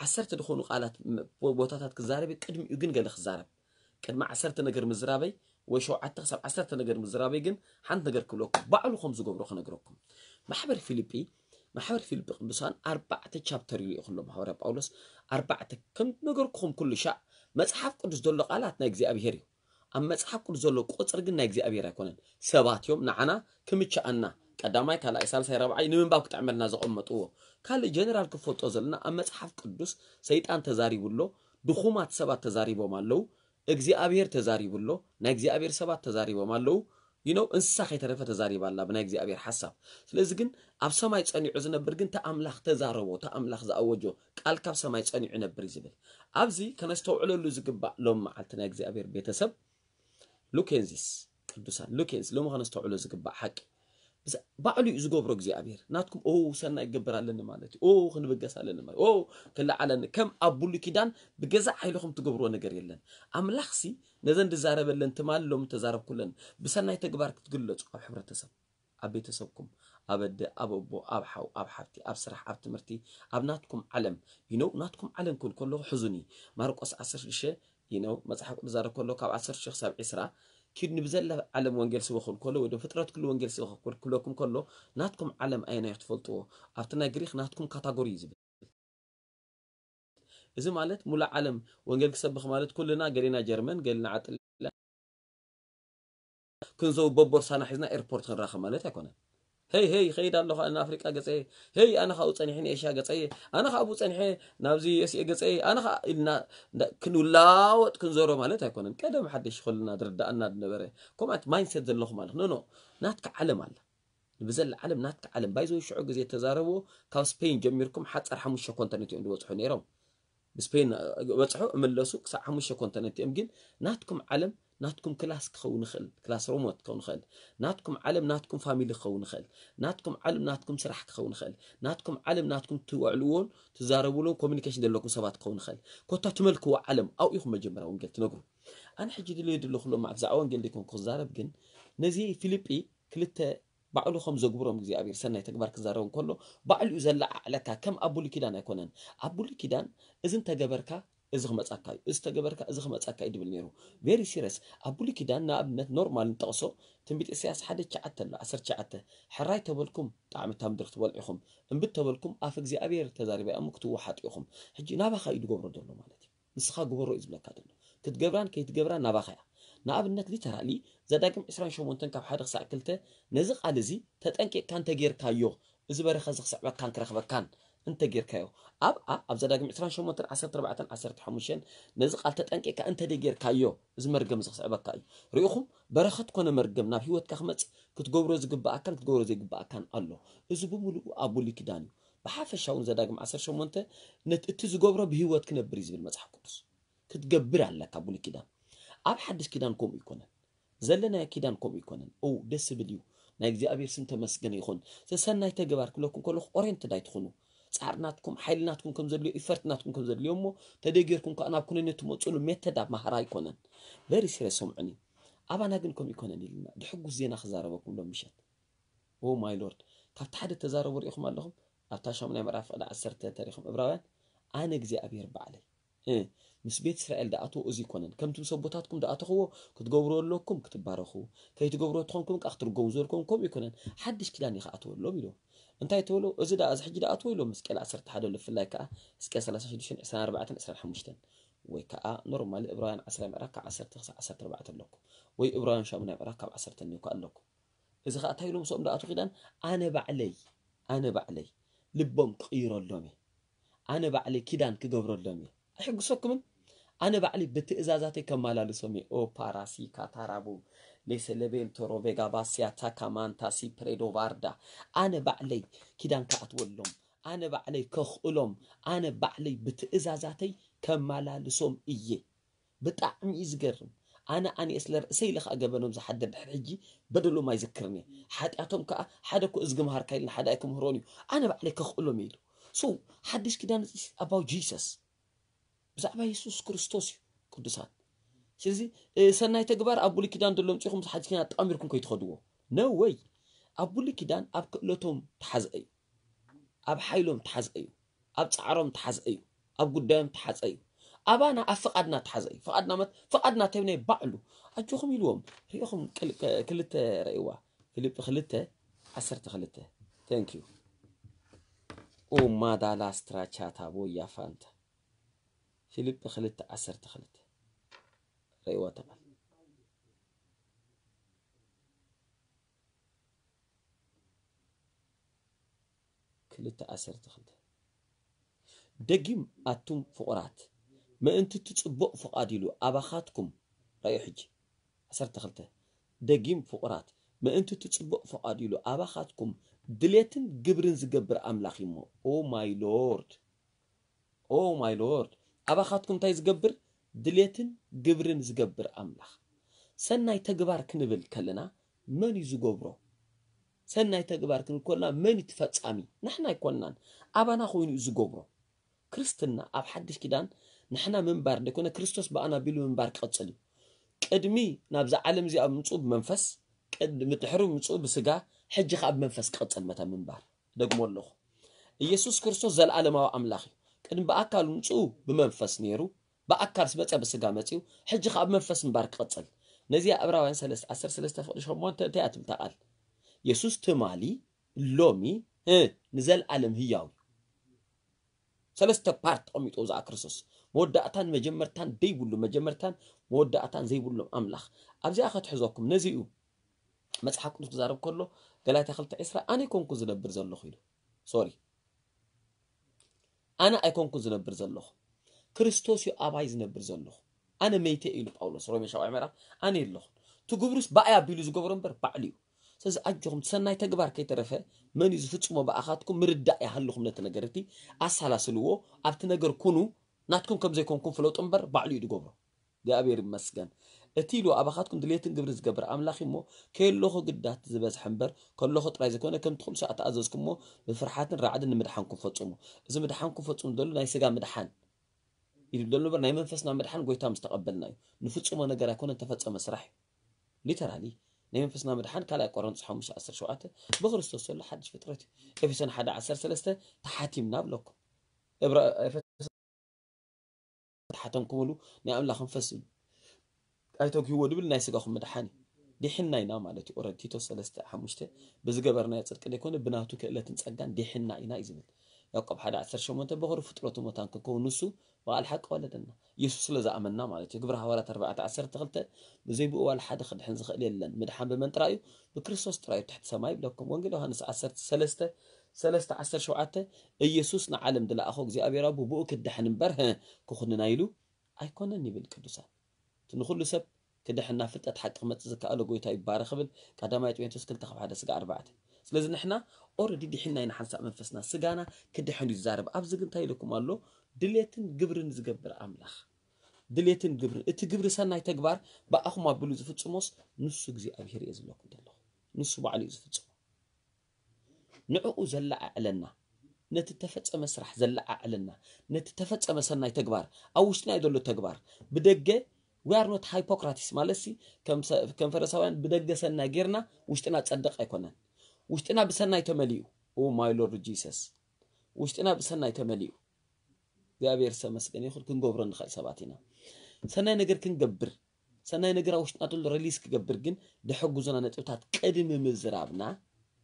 ዓሰርተ ዝኾኑ ቃላት ም-፣ ቦታታት ክዛረብ እዩ። ቅድሚኡ ግን ገለ ክዛረብ። ቅድሚ ዓሰርተ ነገር ምዝራበይ ወይ ሸውዓተ ክሳብ ዓሰርተ ነገር ምዝራበይ ግን ሓንቲ ነገር ክብለኩም። ባዕሉ ከም ዝገብሮ ክነግረኩም። ማሕበር ፊልጲ፣ ማሕበር ፊልጲ ቅዱሳን ኣርባዕተ ቻፕተር እዩ ልኢኹሎም ሃዋርያ ጳውሎስ። ኣርባዕተ ከም ነገርኩም ኩሉ ሻዕ መጽሓፍ ቅዱስ ዘሎ ቃላት ናይ እግዚኣብሔር እዩ። ኣብ መጽሓፍ ቅዱስ ዘሎ ቁጽሪ ግን ናይ እግዚኣብሔር ኣይኮነን። ሰባት እዮም ንዓና ክምችኣና ቀዳማይ፣ ካልኣይ፣ ሳልሳይ፣ ራብዓይ ንምንባብ ክጥዕመልና ዘቐመጥዎ። ካልእ ጀነራል ክፈልጦ ዘለና ኣብ መጽሓፍ ቅዱስ ሰይጣን ተዛሪቡ ኣሎ፣ ድኹማት ሰባት ተዛሪቦም ኣለዉ፣ እግዚኣብሔር ተዛሪቡ ኣሎ፣ ናይ እግዚኣብሔር ሰባት ተዛሪቦም ኣለዉ። You know፣ እንስሳ ከይተረፈ ተዛሪባ ኣላ ብናይ እግዚኣብሔር ሓሳብ። ስለዚ ግን ኣብ ሰማይ ጸኒዑ ዝነብር ግን እቲ ኣምላኽ ተዛረቦ፣ እቲ ኣምላኽ ዝኣወጆ ቃል ካብ ሰማይ ጸኒዑ ይነብር እዩ ዝብል። ኣብዚ ከነስተውዕለሉ ዝግባእ ሎም መዓልቲ ናይ እግዚኣብሔር ቤተሰብ ሉኬንዚስ ቅዱሳን ሉኬንስ ሎሚ ከነስተውዕሎ ዝግባእ ሓቂ ብዛ-፣ ባዕሉ እዩ ዝገብሮ እግዚኣብሔር። ናትኩም ኦ ሰናይ ክገብር ኣለኒ ማለት እዩ፣ ኦ ክንብገስ ኣለኒ ማለት እዩ፣ ኦ ክለዓለኒ። ከም ኣብ ብሉይ ኪዳን ብገዛእ ሓይልኹም ትገብርዎ ነገር የለን። ኣምላኽሲ ነዘን ዝዛረበለን ትማሊ ሎሚ ተዛረብኩለን ብሰናይ ተግባር ክትግለጹ ኣብ ሕብረተሰብ፣ ኣብ ቤተሰብኩም፣ ኣብ ኣደ፣ ኣብ ኣቦ፣ ኣብ ሓው፣ ኣብ ሓብቲ፣ ኣብ ስራሕ፣ ኣብ ትምህርቲ፣ ኣብ ናትኩም ዓለም። You know፣ ናትኩም ዓለም ክብል ከለኹ ሕዙኒ። ማርቆስ ዓሰርተ ሽዱሽተ፣ you know፣ መጽሓፍ ቅዱስ ዛረብ ከሎ ካብ ዓሰርተ ሽዱሽተ ክሳብ ዕስራ ኪድ ንብዘላ ዓለም ወንጌል ስበኹ ክብል ከሎ ወይ ዶ ፍጥረት ኩሉ ወንጌል ስበኹ ክብል ክብለኩም ከሎ ናትኩም ዓለም ኣየናይ ትፈልጥዎ? ኣብቲ ናይ ግሪክ ናትኩም ካታጎሪ እዩ ዝብል። እዚ ማለት ሙሉእ ዓለም ወንጌል ክሰብኽ ማለት ኩልና ገሌና ጀርመን፣ ገሌና ዓጥላ ክንዘው በቦርሳና ሒዝና ኤርፖርት ክንራኸብ ማለት ኣይኮነን። ሄይ ሄይ ይኸይድ ኣለኹ ኣነ ኣፍሪቃ ገጸየ፣ ሄይ ኣነ ካብኡ ጸኒሐ ንኤሽያ ገጸየ፣ ኣነ ካብኡ ጸኒሐ ናብዚ ዩኤስኤ ገጸየ፣ ኣነ ከኣ ኢልና እንዳ-፣ ክንላወጥ ክንዞሮ ማለት ኣይኮነን። ቀደም ሓደሽ ከለና ዝርድኣና ዝነበረ ከምኡ ዓይነት ማይንድሴት ዘለኹም ማለት ኖ ኖ ናትካ ዓለም ኣላ። ንብዘላ ዓለም ናትካ ዓለም ባይዘው ሽዑ ግዜ ተዛረብዎ ካብ ስፔን ጀሚርኩም ሓጻር ሓሙሽተ ኮንቲነንት እዮም ዝበጽሑ ነይሮም። ብስፔን በጽሑ እምለሱ ክሳብ ሓሙሽተ ኮንቲነንት እዮም። ግን ናትኩም ዓለም ናትኩም ክላስ ክኸውን ይኽእል፣ ክላስ ሮሞት ክኸውን ይኽእል፣ ናትኩም ዓለም ናትኩም ፋሚሊ ክኸውን ይኽእል፣ ናትኩም ዓለም ናትኩም ስራሕ ክኸውን ይኽእል፣ ናትኩም ዓለም ናትኩም ትውዕልዎን ትዛረብሉን ኮሚኒኬሽን ዘለኩም ሰባት ክኸውን ይኽእል። ኮታ ትመልክዎ ዓለም ኣብኡ ኢኹም መጀመርያ ወንጌል ትነግሩ። ኣነ ሕጂ ድልዮ ድለኹ ሎም መዓልቲ ብዛዕባ ወንጌል ዘይኮንኩ ክዛረብ፣ ግን ነዚ ፊልጲ ክልተ ባዕሉ ከም ዘግብሮም እግዚኣብሔር ሰናይ ተግባር ክዛረብ እንከሎ ባዕሉ እዩ ዘለዓዕለካ። ከም ኣብ ብሉይ ኪዳን ኣይኮነን። ኣብ ብሉይ ኪዳን እዚ እንተገበርካ እዚ ክመጻካ እዩ፣ እዚ ተገበርካ እዚ ክመጻካ እዩ ድብል ነይሩ። ቬሪ ሲሪየስ። ኣብ ብሉይ ኪዳን ንኣብነት ኖርማል ንጠቕሶ ትንቢት ኢሳያስ ሓደ ትሽዓተ ኣሎ፣ ዓሰርተ ትሽዓተ፣ ሕራይ ተበልኩም ጣዕሚ እታ ምድሪ ክትበልዑ ኢኹም፣ እምቢ ተበልኩም ኣፍ እግዚኣብሔር ተዛሪባ እያ እሞ ክትወሓጡ ኢኹም። ሕጂ ናባኻ እዩ ዝገብሮ ዘሎ ማለት እዩ። ንስኻ ግበሮ እዩ ዝብለካ ዘሎ። ክትገብራን ከይትገብራን ናባኻ እያ። ንኣብነት ሊተራሊ ዘዳግም ዕስራን ሸሞንተን ካብ ሓደ ክሳዕ ክልተ ነዚ ቃል እዚ ተጠንቂቕካ እንተጌርካዮ እዚ በረኸት እዚ ክስዕበካን ክረኽበካን እንተጌርካዮ ኣብ ኣብ ዘዳግም ዕስራን ሸሞንተን ዓሰርተ ኣርባዕተን ዓሰርተ ሓሙሽተን ነዚ ቃል ተጠንቂቕካ እንተደጌርካዮ እዚ መርገም እዚ ክስዕበካ እዩ። ርኢኹም በረኸት ኮነ መርገም ናብ ህይወትካ ክመጽእ ክትገብሮ ዝግብኣካን ክትገብሮ ዘይግብኣካን ኣሎ። እዚ ብምሉኡ ኣብ ብሉይ ኪዳን እዩ። ብሓፈሻ እውን ዘዳግም ዓሰርተ ሸሞንተ እቲ ዝገብሮ ብህይወት ክነብር እዩ ዝብል መጽሓፍ ቅዱስ። ክትገብር ኣለካ ብሉይ ኪዳን። ኣብ ሓድሽ ኪዳን ከምኡ ይኮነን። ዘለናዮ ኪዳን ከምኡ ይኮነን። ኦ ደስ ዝብል እዩ። ናይ እግዚኣብሔር ስም ተመስገነ ይኹን። ሰሰናይ ተግባር ክብለኩም ከለኹ ኦሬንትድ ኣይትኹኑ። ጻዕሪ ናትኩም ሓይሊ ናትኩም ከም ዘድልዮ ኢፈርት ናትኩም ከም ዘድልዮ እሞ ተደጊርኩም ከዓ ናብ ኩነኔ ትመፅሉ ሜተድ ኣብ ማህራ ኣይኮነን። ቨሪ ሲሪየስ ሰምዑኒ። ኣባና ግን ከምኡ ይኮነን ኢልና ድሕጉስ ዜና ክዛረበኩም ሎም ምሸት። ኦ ማይ ሎርድ። ካብቲ ሓደ ተዛረቡ ርኢኹም ኣለኹም ኣብታ ሻሙናይ ምዕራፍ ፍቕዲ ዓሰርተ ተሪኹም እብራውያን ኣነ እግዚኣብሔር ባዕለይ ምስ ቤት እስራኤል ደኣትዎ እዚ ይኮነን ከምቲ ምስ ኣቦታትኩም ደኣተኽዎ ክትገብሩ ኣለኩም ክትባረኹ ከይትገብሩ ትኾንኩም ከዓ ክትርገሙ ዝበልኩም ከምኡ ይኮነን ሓድሽ ኪዳን ይኸኣትወሎም ኢሎም እንታይ ተበሎ እዚ ደኣ እዚ ሕጂ ደኣትዎ ኢሎም ሕዝቅኤል ዓሰርተ ሓደ ኣሎ ብፍላይ ከዓ ሕዝቅኤል ሰላሳ ሽዱሽተ ዕስራን ኣርባዕተን ዕስራን ሓሙሽተን ወይ ከዓ ኖርማሊ እብራውያን ዓስራ ምዕራፍ ካብ ዓሰርተ ክሳብ ዓሰርተ ኣርባዕተ ኣለኩም ወይ እብራውያን ሻሙናይ ምዕራፍ ካብ ዓሰርተ እኒኦ ኣለኩም እዚ ከዓ እንታይ ኢሎም ምስኦም ደኣትዎ ኪዳን ኣነ ባዕለይ ኣነ ባዕለይ ልቦም ክቕይረሎም እየ ኣነ ባዕለይ ኪዳን ክገብረሎም እየ ኣይሕግሰኩምን ኣነ ባዕለይ ብትእዛዛተይ ከመላልሶም እየ ኦ ፓራሲ ካታራቡ ሌሰለቤንቶ ሮቬጋ ባሲያ ታካማንታ ሲፕሬዶ ቫርዳ ኣነ ባዕለይ ኪዳን ክኣትወሎም ኣነ ባዕለይ ከኽእሎም ኣነ ባዕለይ ብትእዛዛተይ ከመላልሶም እየ ብጣዕሚ እዩ ዝገርም ኣነ ኣንኤስ ለርእሰይ ኢለ ከዓ ገበኖም ዝሓድር ድሕሪ ሕጂ በደሎም ኣይዝክርን እየ ሓጢኣቶም ከዓ ሓደ እኮ እዝጊ መሃርካ ኢልና ሓደ ኣይክምህሮን እዩ ኣነ ባዕለይ ከኽእሎም እየ ኢሉ so ሓድሽ ኪዳን about Jesus ብዛዕባ የሱስ ክርስቶስ እዩ ቅዱሳን ስለዚ ሰናይ ተግባር ኣብ ብሉይ ኪዳን ዘሎ ምፅኹም ሓድሽ ኪዳን ኣጣሚርኩም ከይትኸድዎ no way ኣብ ብሉይ ኪዳን ኣብ ክእለቶም ተሓዝአ እዩ ኣብ ሓይሎም ተሓዝአ እዩ ኣብ ፃዕሮም ተሓዝአ እዩ ኣብ ጉዳዮም ተሓፀ እዩ ኣባና ኣብ ፍቓድና ተሓዘ እዩ ፍቓድና መት ፍቓድና ተብናይ ባዕሉ ኣጆኹም ኢልዎም ሪኢኹም ክልተ ረእዋ ፊልጲ ክልተ ዓሰርተ ክልተ thank you ኡማዳላ ስትራቻታ ቦያ ፋንታ ፊልጲ ክልተ ዓሰርተ ክልተ ረእዋ ተቓል ክልተ ዓሰርተ ክልተ ደጊም ኣቱም ፍቑራት ምእንቲ እቲ ጽቡቕ ፍቓድ ኢሉ ኣባኻትኩም ራእዩ ሕጂ ዓሰርተ ክልተ ደጊም ፍቑራት ምእንቲ እቲ ጽቡቕ ፍቓድ ኢሉ ኣባኻትኩም ድሌትን ግብርን ዝገብር ኣምላኽ እሞ ኦ ማይ ሎርድ ኦ ማይ ሎርድ ኣባኻትኩም እንታይ ዝገብር ድሌትን ግብርን ዝገብር ኣምላኽ ሰናይ ተግባር ክንብል ከለና መን እዩ ዝገብሮ ሰናይ ተግባር ክንብል ከለና መን እዩ ፈጻሚ ንሕና ኣይኮንናን ኣባና ኮይኑ እዩ ዝገብሮ ክርስትና ኣብ ሓድሽ ኪዳን ንሕና ምንባር ዘይኮነ ክርስቶስ ብኣና ቢሉ ምንባር ክቐጽል እዩ ቅድሚ ናብዛ ዓለም እዚኣ ምምፅኡ ብመንፈስ ቅድሚ ድሕሪ ምምፅኡ ብስጋ ሕጂ ከዓ ብመንፈስ ክቐጽል መታ ምንባር ደግሞ ኣለኹ ኢየሱስ ክርስቶስ ዘለዓለማዊ ኣምላኽ እዩ ቅድሚ ብኣካል ምምፅኡ ብመንፈስ ነይሩ ብኣካል ዝመፀ ብስጋ መፅኡ ሕጂ ከዓ ብመንፈስ ምንባር ክቐፅል ነዚኣ ዕብራውያን ሰለስተ ዓሰርተ ሰለስተ ፍቕዲ ሸሞንተ እንታይ እያ ትብል እታ ቃል የሱስ ትማሊ ሎሚ ንዘለኣለም ህያው እዩ ሰለስተ ፓርት ተቐሚጡ ዝኣ ክርስቶስ መወዳእታን መጀመርታን ደይብሉ መጀመርታን መወዳእታን ዘይብሎም ኣምላኽ ኣብዚኣ ከትሕዘኩም ነዚ እዩ መፅሓፍ ቅዱስ ክዛረብ ከሎ ገላትያ ክልተ ዕስራ ኣነ ኣይኮንኩ ዝነብር ዘለኹ ኢሉ ሶሪ ኣነ ኣይኮንኩ ዝነብር ዘለኹ ክርስቶስ እዩ ኣባይ ዝነብር ዘለኹ ኣነ መይተ ኢሉ ጳውሎስ ሮሜ ሻውዓይ ምዕራፍ ኣነ የለኹን ትግብሩስ ብኣይ ኣቢሉ ዝገብሮ እምበር ባዕሉ እዩ ስለዚ ኣጆኹም ሰናይ ተግባር ከይተረፈ መን እዩ ዝፍጽሞ ብኣኻትኩም ምርዳእ ይሃልኹም ነቲ ነገር እቲ ኣሳላስልዎ ኣብቲ ነገር ኩኑ ናትኩም ከም ዘይኮንኩም ፍለጡ እምበር ባዕሉ እዩ ዝገብሮ እግዚኣብሔር ይመስገን እቲ ኢሉ ኣባኻትኩም ድሌትን ግብሪ ዝገብር ኣምላኽ እሞ ከየለኹ ግዳት ዝበዝሐ እምበር ከለኹ ጥራይ ዘይኮነ ከምቲ ኩሉ ሰዓት ተኣዘዝኩሞ ብፍርሓትን ራዕድን ንምድሓንኩም ፈጽሙ እዚ ምድሓንኩም ፈጽሙ ዘሎ ናይ ስጋ ምድሓን ኢሉ ዘሎ እምበር ናይ መንፈስና ምድሓን ጎይታ ምስ ተቐበልና እዩ ንፍጽሞ ነገር ኣይኮነን ተፈጸመ ስራሕ እዩ ሊተራሊ ናይ መንፈስና ምድሓን ካልኣይ ቆሮንቶስ ሓሙሽተ ዓሰርተ ሸውዓተ ብክርስቶስ ዘሎ ሓድሽ ፍጥረት እዩ ኤፌሶን ሓደ ዓሰርተ ሰለስተ ተሓቲምና ብለኩም ተሓተምኩምሉ ናይ ኣምላኽ መንፈስ እዩ ኣይተግህዎ ድብል ናይ ስጋኹም ምድሓን እዩ ዲሕና ኢና ማለት እዩ ኦረድ ቲቶ ሰለስተ ሓሙሽተ ብዝገበርናዮ ጽድቂ ዘይኮነ ብናቱ ክእለትን ጸጋን ዲሕና ኢና እዩ ዝብል ያዕቆብ ሓደ ዓሰርተ ሸሞንተ በኽሪ ፍጥረቱ መታን ክንከውን ንሱ ብቓል ሓቂ ወለደና። ኢየሱስ ስለ ዝኣመንና ማለት እዩ። ግብሪ ሃዋርያት ኣርባዕተ ዓሰርተ ክልተ፣ ብዘይ ብኡ ዋላ ሓደ ክድሕን ዝኽእል የለን። ምድሓን ብመን ጥራይ እዩ? ብክርስቶስ ጥራይ እዩ፣ ትሕቲ ሰማይ ይብለኩም። ወንጌል ዮሃንስ ዓሰርተ ሰለስተ፣ ሰለስተ ዓሰርተ ሸውዓተ፣ ኢየሱስ ንዓለም ዝለኣኾ እግዚኣብሔር ኣቦ ብኡ ክድሕን እምበር፣ ህ፣ ክኹንና ኢሉ ኣይኮነን ይብል ቅዱሳን። እቲ ንኹሉ ሰብ ክድሕን ናብ ፍልጠት ሓቂ ክመጽእ ዝከኣሎ ጎይታ ይባረኽ ክብል ቀዳማይ ጢሞቴዎስ ክልተ ካብ ሓደ ስጋ ኣርባዕተ። ስለዚ ንሕና ኦረዲ ድሒና ኢና ሓንሳእ መንፈስና፣ ስጋና ክድሕን እዩ ዝዛረብ። ኣብዚ ግን እንታይ ኢለኩም ኣሎ? ድሌትን ግብርን ዝገብር ኣምላኽ። ድሌትን ግብርን። እቲ ግብሪ ሰናይ ተግባር ብኣኹም ኣቢሉ ዝፍጽሞስ ንሱ እግዚኣብሔር እየ ዝብለኩም ዘለኹ። ንሱ ባዕሉ እዩ ዝፍጽሞ። ንዕኡ ዘለዓዕለና፣ ነቲ ተፈጸመ ስራሕ ዘለዓዕለና፣ ነቲ ተፈጸመ ሰናይ ተግባር፣ ኣብ ውሽጥና እዩ ዘሎ ተግባር። ብደገ we are not hypocrites ማለት ሲ፣ ከም ሰ-፣ ከም ፈሪሳውያን ብደገ ሰናይ ጌርና ውሽጥና ጸድቕ ኣይኮነን። ውሽጥና ብሰናይ ተመሊኡ። Oh my Lord Jesus። ውሽጥና ብሰናይ ተመሊኡ። እግዚኣብሔር ዝተመስገነ ይኹን፣ ክንገብሮ ንኽእል ሰባት ኢና። ሰናይ ነገር ክንገብር፣ ሰናይ ነገር ኣብ ውሽጥና ዘሎ ሪሊዝ ክገብር ግን ዝሕግዙና ነጥብታት ቅድሚ ምዝራብና፣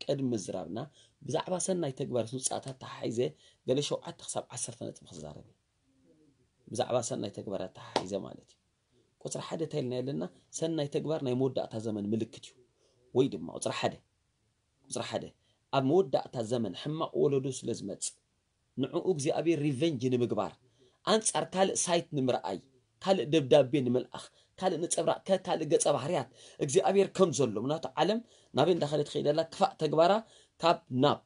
ቅድሚ ምዝራብና ብዛዕባ ሰናይ ተግባር ውፅኣታት ተሓሒዘ ገለ ሸውዓተ ክሳብ ዓሰርተ ነጥቢ ክዛረብ እየ። ብዛዕባ ሰናይ ተግባራት ተሓሒዘ ማለት እዩ። ቁፅሪ ሓደ እንታይ ኢልና ኣለና? ሰናይ ተግባር ናይ መወዳእታ ዘመን ምልክት እዩ። ወይ ድማ ቁፅሪ ሓደ፣ ቁፅሪ ሓደ፣ ኣብ መወዳእታ ዘመን ሕማቕ ወለዶ ስለ ዝመጽእ ንዕኡ እግዚኣብሔር ሪቨንጅ ንምግባር ኣንጻር ካልእ ሳይት ንምርኣይ፣ ካልእ ደብዳቤ ንምልኣኽ፣ ካልእ ነጸብራቕ፣ ከ-፣ ካልእ ገጸ ባህርያት እግዚኣብሔር ከም ዘሎ፣ ምክንያቱ ዓለም ናበይ እንዳኸደት ትኸይድ ኣላ? ክፋእ ተግባራ ካብ ናብ፣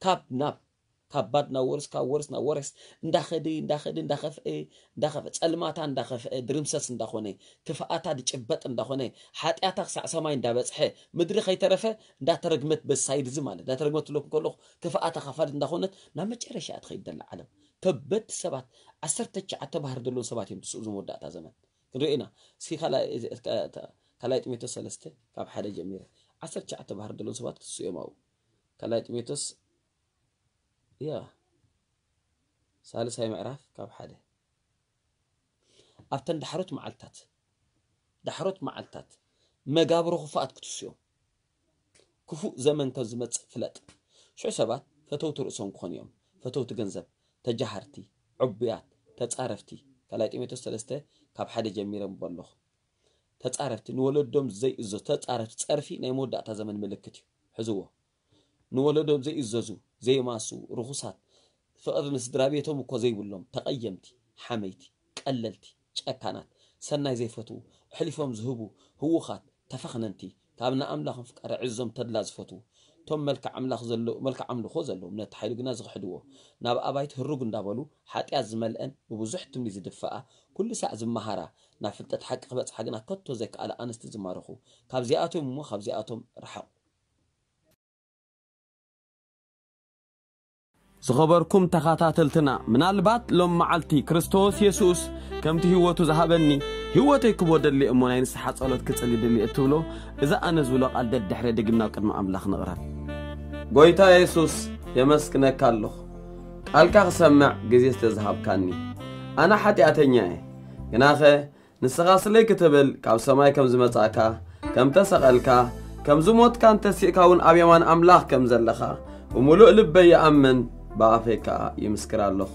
ካብ ናብ፣ ካብ ባድ ናብ ወርስ፣ ካብ ወርስ ናብ ወረስ እንዳኸደ፣ እንዳኸደ፣ እንዳኸፍአ፣ እንዳኸፍአ፣ ጸልማታ እንዳኸፍአ፣ ድርምሰስ እንዳኾነ፣ ክፍኣታ ድጭበጥ እንዳኾነ፣ ሓጢኣታ ክሳዕ ሰማይ እንዳበጽሐ፣ ምድሪ ከይተረፈ እንዳተረግመት፣ በሳይድ እዚ ማለት እንዳተረግመት ትለኩም ከለኹ፣ ክፍኣታ ካፋልት እንዳኾነት ናብ መጨረሻ እያ ትኸይድ ዘላ ዓለም። ከበድቲ ሰባት፣ ዓሰርተ ትሽዓተ ባህሪ ዘለዎም ሰባት እዮም ትስኡ፣ እዚ መወዳእታ ዘመን ክንሪኦ ኢና። እስኪ ካልኣይ፣ ካልኣይ ጢሞቴዎስ ሰለስተ ካብ ሓደ ጀሚረ፣ ዓሰርተ ትሽዓተ ባህሪ ዘለዎም ሰባት ክስኡ እዮም ኣብኡ። ካልኣይ ጢሞቴዎስ፣ ያ፣ ሳልሳይ ምዕራፍ ካብ ሓደ። ኣብተን ዳሕሮት መዓልታት፣ ዳሕሮት መዓልታት መጋብሮ ክፉኣት ክትስኡ እዮም። ክፉእ ዘመን ከም ዝመጽእ ፍለጥ። ሽዑ ሰባት ፈተውቲ ርእሶም ክኾኑ እዮም፣ ፈተውቲ ገንዘብ፣ ተጃሃርቲ፣ ዕቡያት፣ ተጻረፍቲ። ካልኣይ ጢሞቴዎስ ሰለስተ ካብ ሓደ ጀሚረ ኣንብቦ ኣለኹ። ተጻረፍቲ፣ ንወለዶም ዘይእዘዙ ተጻረፍቲ። ጸርፊ ናይ መወዳእታ ዘመን ምልክት እዩ። ሕዝዎ። ንወለዶም ዘይእዘዙ፣ ዘይማስዉ፣ ርኹሳት፣ ፍቕሪ ንስድራ ቤቶም እኮ ዘይብሎም፣ ተቐየምቲ፣ ሓመይቲ፣ ቀለልቲ፣ ጨካናት፣ ሰናይ ዘይፈትዉ፣ ኣሕሊፎም ዝህቡ፣ ህዉኻት፣ ተፈኽነንቲ፣ ካብ ንኣምላኽን ፍቃድ ኣዕዝዞም ተድላ ዝፈትዉ፣ እቶም መልክዕ ኣምላኽ ዘሎ-፣ መልክዕ ኣምልኾ ዘለዎም፣ ነቲ ሓይሉ ግና ዝኽሕድዎ፣ ናብ ኣባይቲ ህሩግ እንዳበሉ፣ ሓጢኣት ዝመልአን ብብዙሕ ትምኒት ዝድፍኣ፣ ኩሉ ሳዕ ዝመሃራ፣ ናብ ፍልጠት ሓቂ ክበጽሓ ግና ከቶ ዘይከኣላ ኣንስቲ ዝማረኹ፣ ካብዚኣቶም እሞ ካብዚኣቶም ርሓቑ። ዝኸበርኩም ተኸታተልትና፣ ምናልባት ሎም መዓልቲ ክርስቶስ የሱስ ከምቲ ህይወቱ ዝሃበኒ ህይወተይ ክቦ ደሊ እሞ ናይ ንስሓ ጸሎት ክጽሊ ደሊ እትብሎ፣ እዚ ኣነ ዝብሎ ቃል ደድሕረ ደጊምና ኣብ ቅድሚ ኣምላኽ ንቕረብ። ጎይታ የሱስ፣ የመስግነካ ኣለኹ፣ ቃልካ ክሰምዕ ግዜ ስለ ዝሃብካኒ። ኣነ ሓጢኣተኛ እየ፣ ግናኸ ንስኻ ስለይ ክትብል ካብ ሰማይ ከም ዝመጻእካ፣ ከም ተሰቐልካ፣ ከም ዝሞትካን ተሲእካ እውን ኣብ የማን ኣምላኽ ከም ዘለኻ ብምሉእ ልበይ ይኣምን፣ ብኣፈይ ከኣ ይምስክር ኣለኹ።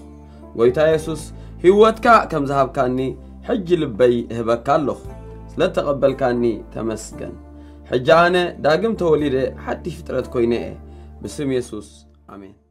ጎይታ የሱስ፣ ህይወትካ ከም ዝሃብካኒ ሕጂ ልበይ እህበካ ኣለኹ። ስለ እተቐበልካኒ ተመስገን። ሕጂ ኣነ ዳግም ተወሊደ ሓድሽ ፍጥረት ኮይነ እየ። ብስም የሱስ፣ ኣሜን።